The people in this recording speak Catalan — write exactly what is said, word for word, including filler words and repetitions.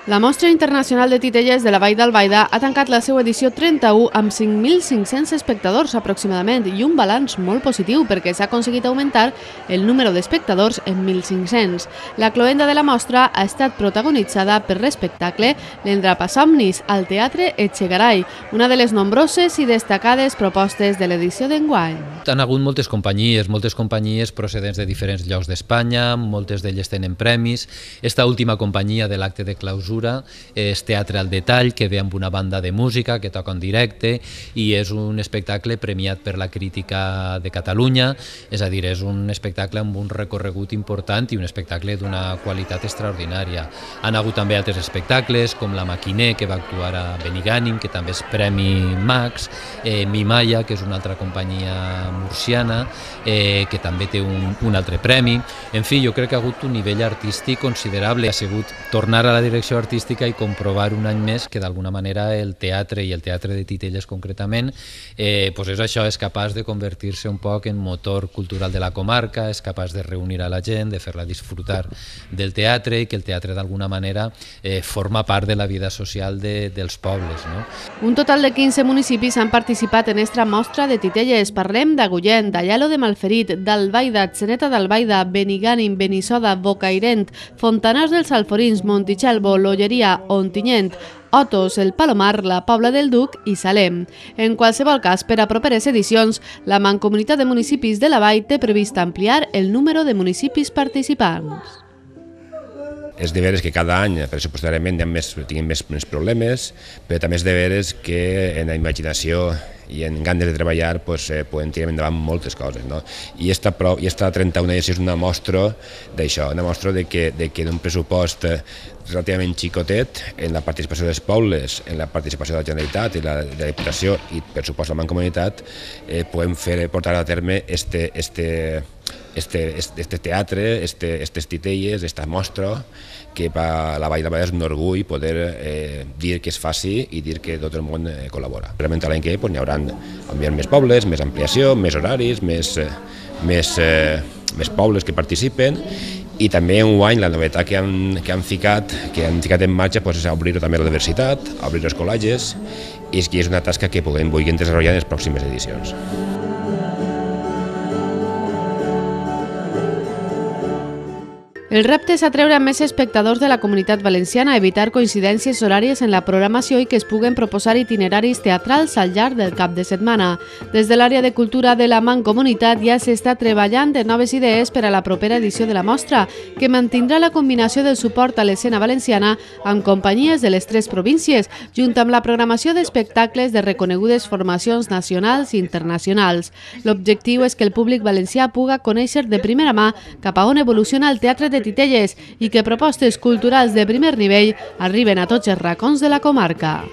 La Mostra Internacional de Titelles de la Vall d'Albaida ha tancat la seva edició trenta-u amb cinc mil cinc-cents espectadors aproximadament i un balanç molt positiu perquè s'ha aconseguit augmentar el número d'espectadors en mil cinc-cents. La cloenda de la mostra ha estat protagonitzada per l'espectacle L'Endrapasomnis al Teatre Etxegaray, una de les nombroses i destacades propostes de l'edició d'enguany. Han hagut moltes companyies, moltes companyies procedents de diferents llocs d'Espanya, moltes d'elles tenen premis. Esta última companyia de l'acte de clausura és Teatre al Detall, que ve amb una banda de música que toca en directe i és un espectacle premiat per la crítica de Catalunya, és a dir, és un espectacle amb un recorregut important i un espectacle d'una qualitat extraordinària. Han hagut també altres espectacles com La Maquiner, que va actuar a Benigànim, que també és Premi Max, eh, Mimaya, que és una altra companyia murciana, eh, que també té un, un altre premi. En fi, jo crec que ha hagut un nivell artístic considerable. Ha sigut tornar a la direcció artística i comprovar un any més que d'alguna manera el teatre i el teatre de Titelles concretament eh, pues és això, és capaç de convertir-se un poc en motor cultural de la comarca, és capaç de reunir a la gent, de fer-la disfrutar del teatre i que el teatre d'alguna manera eh, forma part de la vida social de, dels pobles. No? Un total de quinze municipis han participat en esta mostra de Titelles. Parlem d'Agullent, d'Aielo de Malferit, d'Albaida, Atzeneta d'Albaida, Benigànim, Benissoda, Bocairent, Fontanars dels Alforins, Montitxelvo, L'Olleria, Ontinyent, Otos, el Palomar, la Pobla del Duc i Salem. En qualsevol cas, per a properes edicions, la Mancomunitat de Municipis de la Vall té previst ampliar el número de municipis participants. És de veres que cada any, pressupostàriament, més, tinguem més, més problemes, però també és de veres que en la imaginació i en ganes de treballar pues, eh, podem tirar endavant moltes coses. No? I esta, i esta trenta-una edició és una mostra d'això, una mostra de que, de que d'un pressupost relativament xicotet en la participació dels pobles, en la participació de la Generalitat i la, de la Diputació i per supost la Mancomunitat eh, podem fer, portar a terme este, este, este, este teatre, este, estes titelles, esta mostra que per a la Vall d'Albaida és un orgull poder eh, dir que es faci i dir que tot el món eh, col·labora. Realment l'any que ve pues, n'hi haurà més pobles, més ampliació, més horaris, més, eh, més, eh, més pobles que participen i també enguany la novetat que han, que han, ficat, que han ficat en marxa pues, és obrir també la diversitat, obrir els col·legis i és que és una tasca que podem vulguin desenvolupar en les pròximes edicions. El repte és atreure més espectadors de la Comunitat Valenciana, evitar coincidències horàries en la programació i que es puguen proposar itineraris teatrals al llarg del cap de setmana. Des de l'àrea de cultura de la Mancomunitat ja s'està treballant en noves idees per a la propera edició de la mostra, que mantindrà la combinació del suport a l'escena valenciana amb companyies de les tres províncies, junt amb la programació d'espectacles de reconegudes formacions nacionals i internacionals. L'objectiu és que el públic valencià puga conèixer de primera mà cap a on evoluciona el teatre de Titelles i que propostes culturals de primer nivell arriben a tots els racons de la comarca.